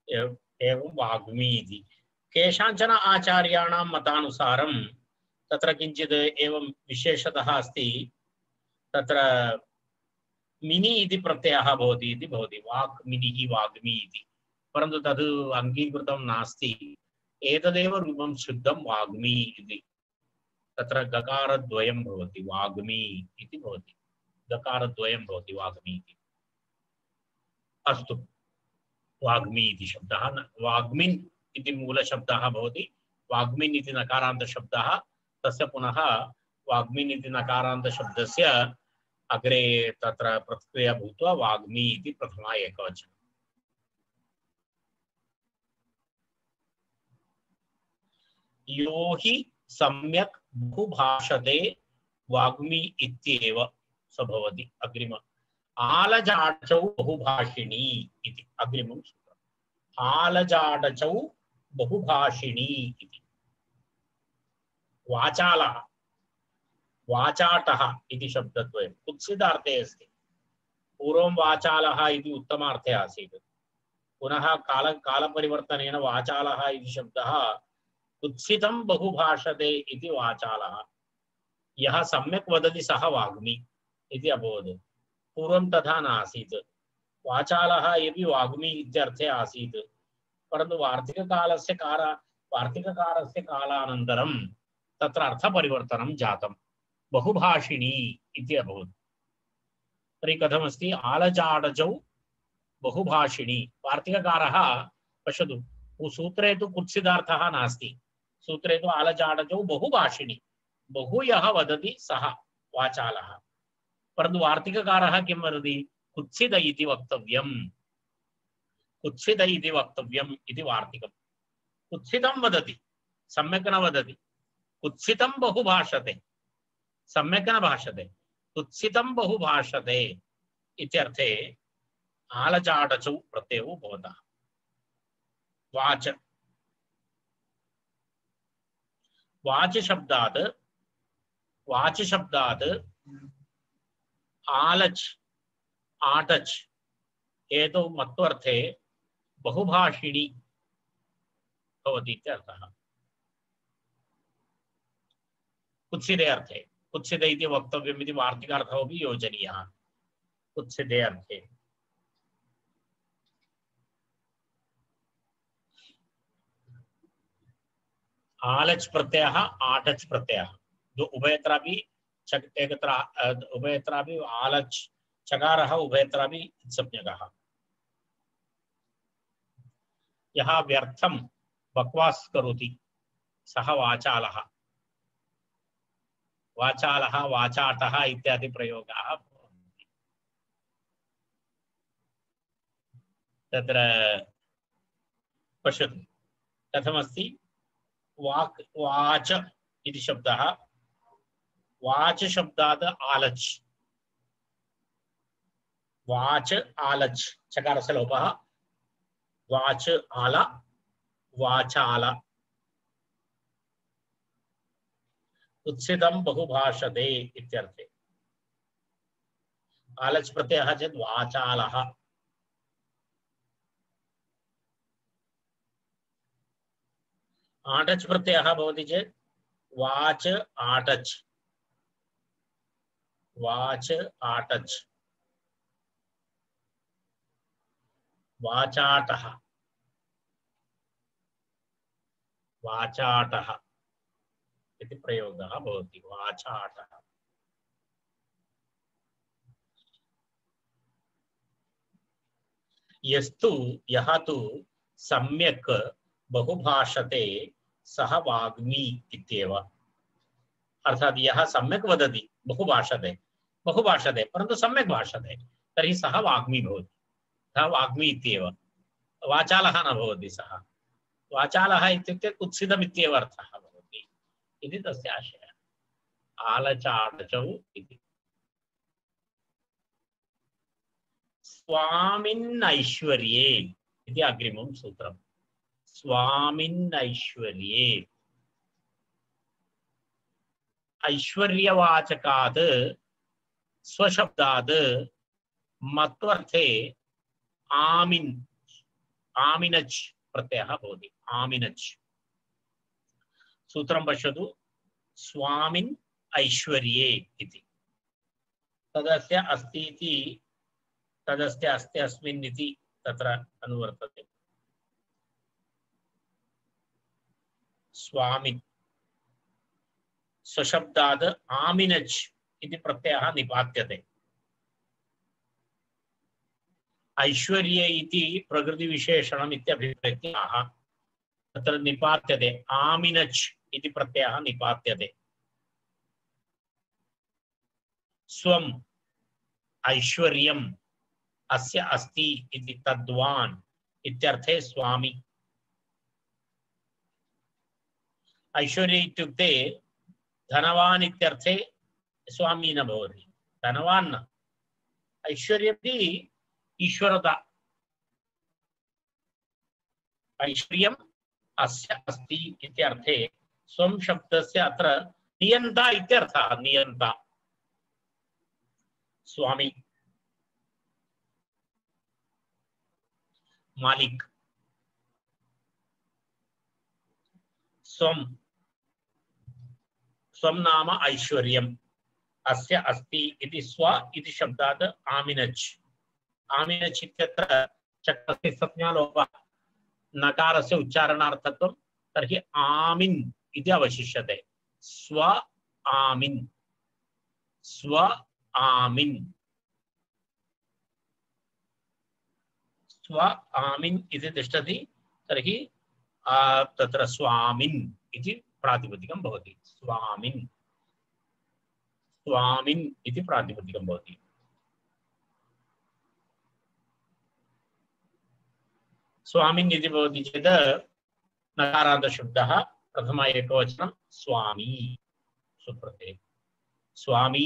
एवं वाग्मी इति केषाञ्चन आचार्याणां मतानुसारं तत्र किञ्चित् एवं विशेषतः अस्ति तत्र मिनि इति प्रत्ययः भवति इति भवति वाक् मिनिः वाग्मी इति परन्तु तद् अङ्गीकृतं नास्ति एतदेव रूपं शुद्धं वाग्मी इति तत्र गकारद्वयं भवति वाग्मी इति भवति गकारद्वयं भवति वाग्मी इति अस्तु वाग्मी इति शब्दः वाग्मिन् इति मूलशब्दः भवति वाग्मिन् इति नकारान्तशब्दः तस्य पुनः वाग्मिन् इति नकारान्तशब्दस्य अग्रे तत्र प्रतिक्रिया भूत्वा वाग्मी इति प्रथमा एकवचनं यो हि सम्यक् बहुभाषते वाग्मी इत्येव स भवति अग्रिम आलजाडचौ बहुभाषिणी इति अग्रिमं सूत्रम् आलजाडचौ बहुभाषिणी इति वाचालः वाचाटः इति शब्दद्वयं कुत्सितार्थे अस्ति पूर्वं वाचालः इति उत्तमार्थे आसीत् पुनः काल कालपरिवर्तनेन वाचालः इति शब्दः कुत्सितं बहुभाषते इति वाचालः यः सम्यक् वदति सः वाग्मी इति अभवत् पूर्वं तथा नासीत् वाचालः यदि वाग्मी इत्यर्थे आसीत् परन्तु वार्तिककालस्य काल वार्तिककालस्य कालानन्तरं तत्र अर्थपरिवर्तनं जातं बहुभाषिणी इति अभवत् तर्हि कथमस्ति आलजाडजौ बहुभाषिणी वार्तिककारः पश्यतु सूत्रे तु कुत्सितार्थः नास्ति सूत्रे तु आलजाडजौ बहुभाषिणी बहु यः वदति सः वाचालः परन्तु वार्तिककारः किं वदति कुत्सित इति वक्तव्यं कुत्सित इति वक्तव्यम् इति वार्तिकं कुत्सितं वदति सम्यक् न वदति कुत्सितं बहु भाषते सम्यक् न भाषते कुत्सितं बहु भाषते इत्यर्थे आलजाडचौ प्रत्ययो भवतः वाच वाच शब्दात् वाच शब्दात् आलच आटच एतौ मत्वर्थे बहुभाषिणी भवति इत्यर्थः कुत्सिते अर्थे कुत्सिते इति वक्तव्यम् इति वार्तिकार्थः अपि योजनीयः कुत्सिते अर्थे आलच प्रत्ययः आटच प्रत्ययः जो उभयत्रापि एकत्र उभयत्रापि आलच चकारः उभयत्रापि संज्ञकः यः व्यर्थं बकवास् करोति सः वाचालः वाचालः वाचाटः इत्यादि प्रयोगाः भवन्ति तत्र पश्यतु कथमस्ति वाक् वाच इति शब्दः वाच शब्दात् आलच वाच आलच चकारस्य लोपः वाच आला वाचाला उत्सितं बहुभाषते इत्यर्थे आलच् प्रत्ययः चेत् वाचालः आटच् प्रत्ययः भवति चेत् वाच आटच् वाच आटच् वाचाटः वाचाटः इति प्रयोगः भवति वाचाटः यस्तु यः तु सम्यक् बहुभाषते सः वाग्मी इत्येव अर्थात् यः सम्यक् वदति बहुभाषते बहुभाषते परन्तु सम्यक् भाषते तर्हि सः वाग्मी भवति सः वाग्मी इत्येव वाचालः न भवति सः वाचालः इत्युक्ते कुत्सितम् इत्येव अर्थः भवति इति तस्य आशयः आलचाटचौ इति स्वामिन्नैश्वर्ये इति अग्रिमं सूत्रम् स्वामिन्नैश्वर्ये ऐश्वर्यवाचकात् स्वशब्दात् मत्वर्थे आमिन् आमिनच् प्रत्ययः भवति आमिनच् सूत्रं पश्यतु स्वामिन् ऐश्वर्ये इति तदस्य अस्ति इति तदस्य अस्ति अस्मिन् इति तत्र अनुवर्तते स्वामिन् स्वशब्दात् आमिनच् इति प्रत्ययः निपात्यते ऐश्वर्ये इति प्रकृतिविशेषणम् इत्यभिप्रेत्याः तत्र निपात्यते आमिनच् इति प्रत्ययः निपात्यते स्वम् ऐश्वर्यम् अस्य अस्ति इति तद्वान् इत्यर्थे स्वामी ऐश्वर्य इत्युक्ते धनवान् इत्यर्थे स्वामी न भवति धनवान् न ऐश्वर्यमपि ईश्वरता ऐश्वर्यम् अस्य अस्ति इत्यर्थे स्वं शब्दस्य अत्र नियन्ता इत्यर्थः नियन्ता स्वामी मालिक स्वं स्वं नाम ऐश्वर्यम् अस्य अस्ति इति स्व इति शब्दात् आमिनच् आमिनच् इत्यत्र चक्रस्य संज्ञालोपः नकारस्य उच्चारणार्थत्वं तर्हि आमिन् इति अवशिष्यते स्व आमिन् स्व आमिन् स्व आमिन् इति तिष्ठति तर्हि तत्र स्वामिन् इति प्रातिपदिकं भवति स्वामिन् स्वामिन् इति प्रातिपदिकं भवति स्वामिन् इति भवति चेत् नकारान्त शब्दः प्रथम एकवचनं स्वामी सुप्रत्यय स्वामी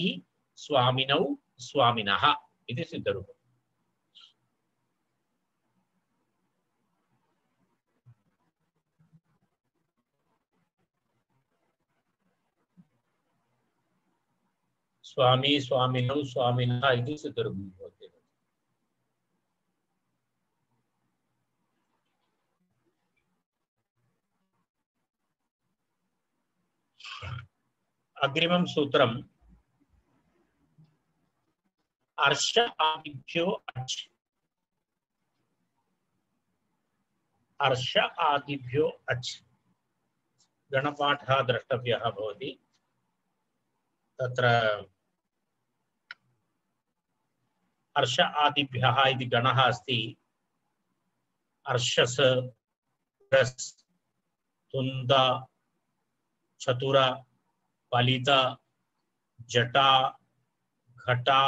स्वामिनौ स्वामिनः इति सिद्धरूपम् स्वामी स्वामिनौ स्वामिनः इति सिद्धरूपं भवति अग्रिमं सूत्रम् अर्ष आदिभ्यो अच् अर्ष आदिभ्यो अच् गणपाठः द्रष्टव्यः भवति तत्र अर्ष आदिभ्यः इति गणः अस्ति अर्षस् रस् तुन्द चतुर फलित जटा घटा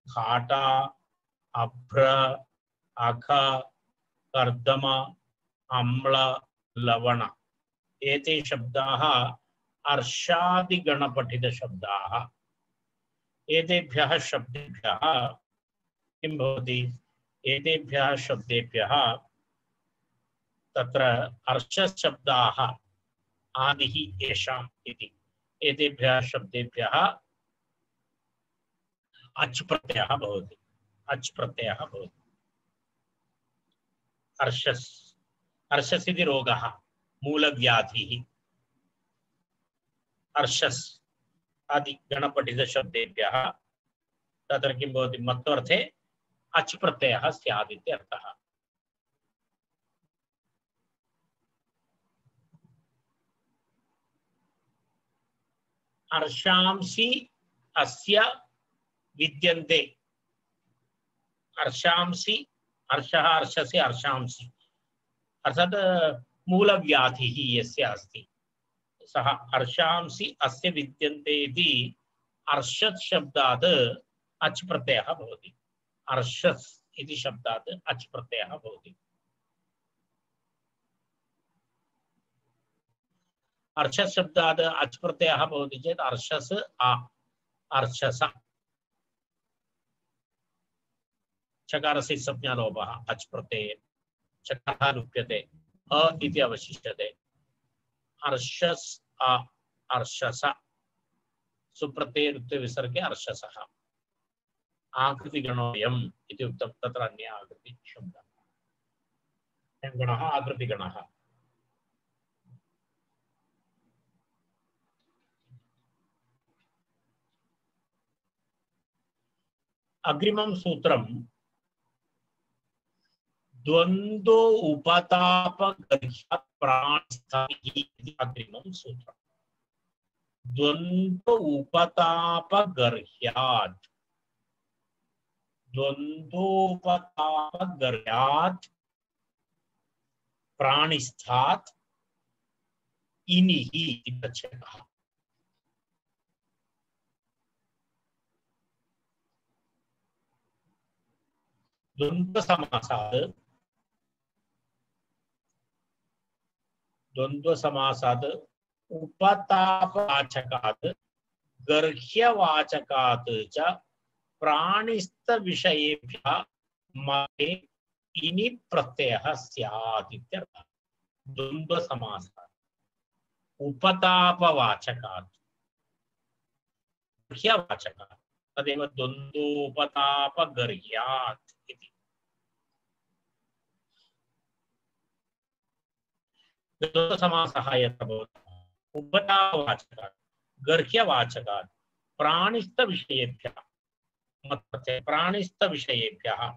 घाटा अभ्र अघ कर्दम अम्ल लवण एते शब्दाः अर्षादिगणपठित शब्दाः एतेभ्यः शब्देभ्यः किं भवति एतेभ्यः शब्देभ्यः तत्र अर्षशब्दाः आदिः येषाम् इति एतेभ्यः शब्देभ्यः अच् प्रत्ययः भवति अच् प्रत्ययः भवति अर्षस् अर्षस् इति रोगः मूलव्याधिः अर्षस् आदि गणपठितशब्देभ्यः तत्र किं भवति मत्वर्थे अच् प्रत्ययः स्यात् इत्यर्थः अर्षांसि अस्य विद्यन्ते अर्षांसि अर्षः अर्षसि अर्षांसि अर्थात् मूलव्याधिः यस्य अस्ति सः अर्षांसि अस्य विद्यन्ते इति अर्षत् शब्दात् अच् प्रत्ययः भवति अर्षस् इति शब्दात् अच् प्रत्ययः भवति अर्षस् शब्दात् अच् प्रत्ययः भवति चेत् अर्षस् आ अर्षस चकारस्य संज्ञालोपः अच् प्रत्यये चकारः लुप्यते अ इति अवशिष्यते अर्षस् आ अर्षस सुप्रत्यये रुत्वे विसर्गे अर्षसः आकृतिगणोऽयम् इति उक्तं तत्र अन्य आकृति शब्दः अयं गणः आकृतिगणः अग्रिमं सूत्रं द्वन्द्वो उपतापगर्ह्यात् प्राणिस्थानिः इति अग्रिमं सूत्रम् द्वन्द्व उपतापगर्ह्यात् द्वन्द्वोपतापगर्ह्यात् प्राणिस्थात् इनिः इति प्रत्ययः द्वन्द्वसमासात् द्वन्द्वसमासात् उपतापवाचकात् गर्ह्यवाचकात् च प्राणिस्थविषयेभ्यः मते इनि प्रत्ययः स्यात् इत्यर्थः द्वन्द्वसमासात् उपतापवाचकात् गर्ह्यवाचकात् तदेव द्वन्द्वोपतापगर्ह्यात् इति द्वन्द्वसमासः यत्र भवति उपतापवाचकात् गर्ह्यवाचकात् प्राणिस्थविषयेभ्यः मत्प्रत्ययः प्राणिस्थविषयेभ्यः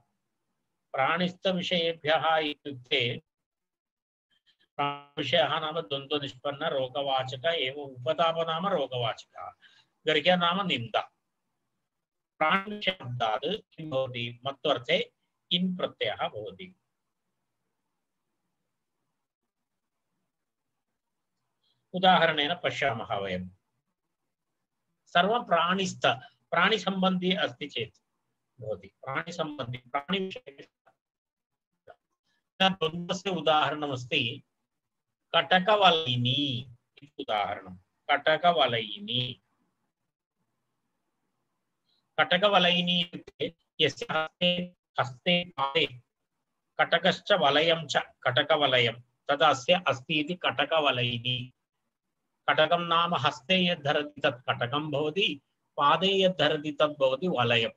प्राणिस्थविषयेभ्यः इत्युक्ते विषयः नाम द्वन्द्वनिष्पन्न रोगवाचक एवं उपताप नाम रोगवाचकः गर्ह्य नाम निन्दा प्राणिशब्दात् किं भवति मत्वर्थे इन् प्रत्ययः भवति उदाहरणेन पश्यामः वयं सर्वं प्राणिस्थ प्राणिसम्बन्धी अस्ति चेत् भवति प्राणिसम्बन्धी प्राणिविषये द्वन्द्वस्य उदाहरणमस्ति कटकवलयिनी इति उदाहरणं कटकवलयिनी कटकवलयिनी इत्युक्ते यस्य हस्ते हस्ते पादे कटकश्च वलयं च कटकवलयं तदस्य अस्ति इति कटकवलयिनी कटकं नाम हस्ते यद् धरति तत् कटकं भवति पादे यद् धरति तद् भवति वलयम्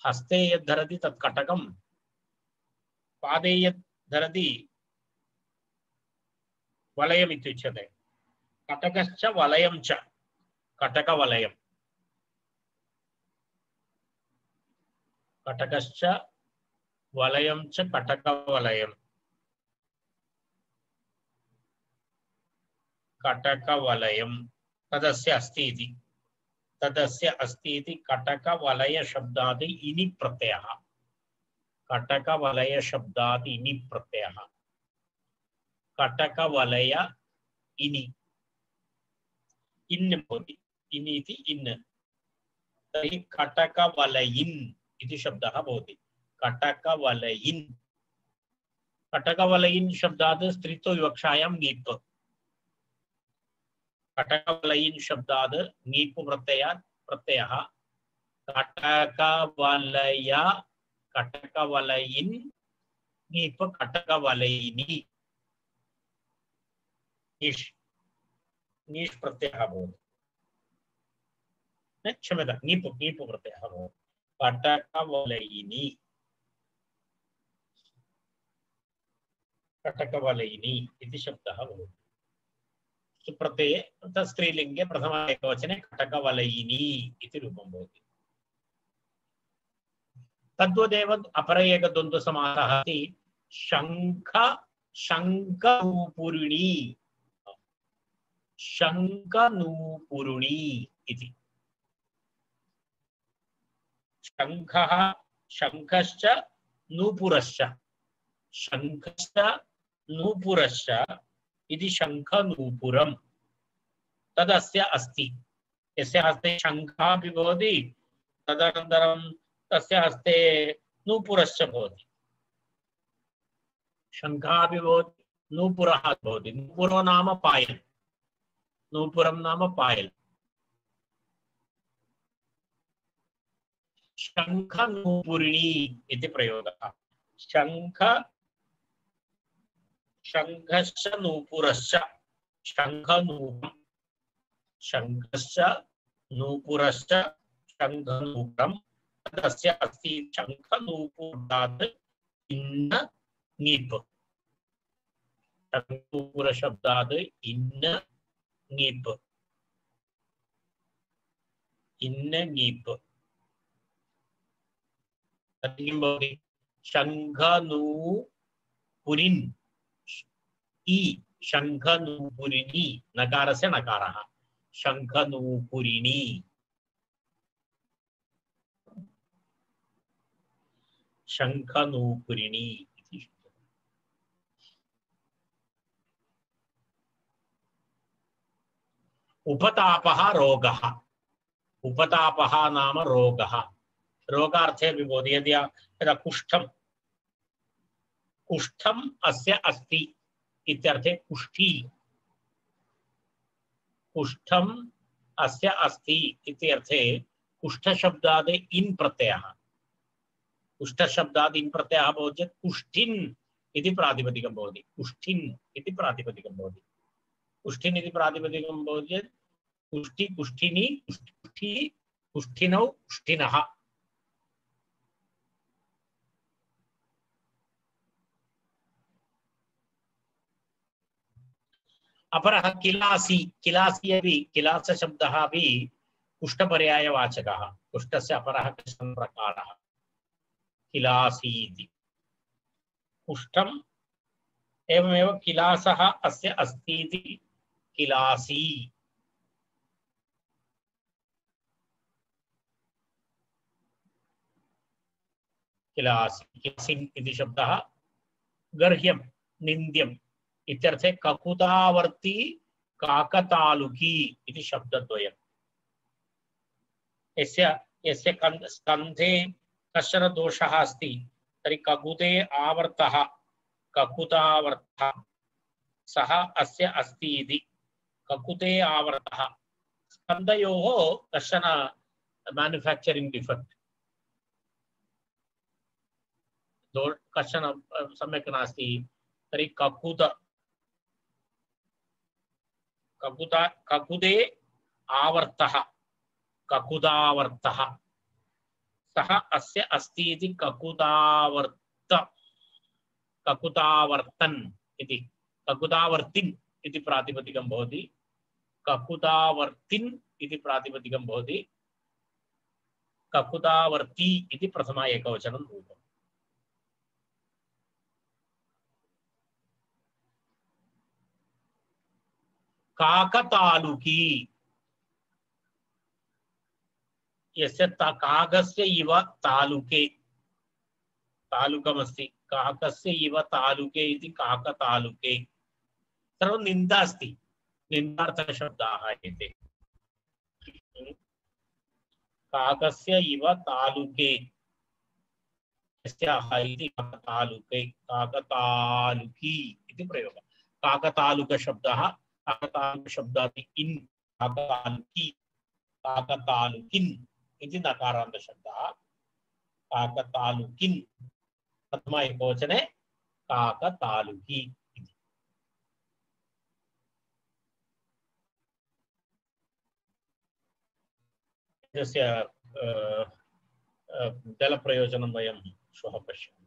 हस्ते यद् धरति तत् कटकं पादे यद् धरति वलयम् इत्युच्यते कटकश्च वलयं च कटकवलयम् कटकश्च वलयं च कटकवलयम् कटकवलयं तदस्य अस्ति इति तदस्य अस्ति इति कटकवलय शब्दात् इनि प्रत्ययः कटकवलय शब्दात् इनि प्रत्ययः कटकवलय इनि इन् भवति इनि इति इन् तर्हि कटकवलयिन् इति शब्दः भवति कटकवलयिन् कटकवलयिन् शब्दात् स्त्रीत्व विवक्षायां ङीप् कटकवलयिन् शब्दात् ङीप् प्रत्ययात् प्रत्ययः कटकवलय कटकवलयिन् ङीप् कटकवलयिनी ङीष् ङीष् प्रत्ययः भवति क्षम्यतां ङीप् ङीप् प्रत्ययः भवति कटकवलयिनी कटकवलयिनी इति शब्दः भवति सुप्रत्यये तत् स्त्रीलिङ्गे प्रथम एकवचने कटकवलयिनी इति रूपं भवति तद्वदेव अपर एकद्वन्द्वसमासः अस्ति शङ्ख शङ्खनूपुरिणी शङ्खनूपुरिणी इति शङ्खः शङ्खश्च नूपुरश्च शङ्खश्च नूपुरश्च इति शङ्खनूपुरं तदस्य अस्ति यस्य हस्ते शङ्खः अपि भवति तदनन्तरं तस्य हस्ते नूपुरश्च भवति शङ्खः अपि भवति नूपुरः भवति नूपुरो नाम पायल् नूपुरं नाम पायल् शङ्खनूपुरिणी इति प्रयोगः शङ्ख शङ्खश्च नूपुरश्च शङ्खनूपुरं शङ्खश्च नूपुरश्च शङ्खनूपुरं तस्य अस्ति शङ्खनूपुरात् इन्न ङीप् शङ्खनूपुरशब्दात् इन्न ङीप् इन्न ङीप् तत् किं भवति शङ्खनूपुरिन् इ शङ्खनूपुरिणी नकारस्य नकारः शङ्खनूपुरिणी शङ्खनूपुरिणी इति उपतापः रोगः उपतापः नाम रोगः रोगार्थे विभवति यदि यदा कुष्ठं कुष्ठम् अस्य अस्ति इत्यर्थे कुष्ठी कुष्ठम् अस्य अस्ति इत्यर्थे कुष्ठशब्दात् इन् प्रत्ययः कुष्ठशब्दात् इन् प्रत्ययः भवति चेत् कुष्ठिन् इति प्रातिपदिकं भवति कुष्ठिन् इति प्रातिपदिकं भवति कुष्ठिन् इति प्रातिपदिकं भवति चेत् कुष्ठी कुष्ठिनी कुष्ठी कुष्ठिनौ कुष्ठिनः अपरः किलासी किलासी अपि किलास शब्दः अपि कुष्ठपर्यायवाचकः कुष्ठस्य अपरः कश्चन प्रकारः किलासी इति कुष्ठम् एवमेव किलासः अस्य अस्ति इति किलासी किलासी किलासिन् इति शब्दः गर्ह्यं निन्द्यम् इत्यर्थे ककुतावर्ती काकतालुकी इति शब्दद्वयम् यस्य यस्य स्कन्धे कश्चन दोषः अस्ति तर्हि ककुते आवर्तः ककुतावर्तः सः अस्य अस्ति इति ककुते आवर्तः स्कन्धयोः कश्चन मैन्युफैक्चरिंग डिफेक्ट दो कश्चन सम्यक् नास्ति तर्हि ककुत ककुता ककुदे आवर्तः ककुदावर्तः सः अस्य अस्ति इति ककुदावर्त ककुतावर्तन् इति ककुतावर्तिन् इति प्रातिपदिकं भवति ककुतावर्तिन् इति प्रातिपदिकं भवति ककुतावर्ती इति प्रथमा एकवचनं रूपम् काकतालुकी यस्य काकस्य इव तालुके तालुकमस्ति काकस्य इव तालुके इति काकतालुके सर्वं निन्दा अस्ति निन्दार्थशब्दाः एते काकस्य इव तालुके यस्याः इति काकतालुके काकतालुकी इति प्रयोगः काकतालुकशब्दः काकतालुकशब्दात् इन् काकतालुकी काकतालुकिन् इति नकारान्तशब्दः काकतालुकिन् प्रथम एकवचने काकतालुकी इति तस्य जलप्रयोजनं वयं श्वः पश्यामः।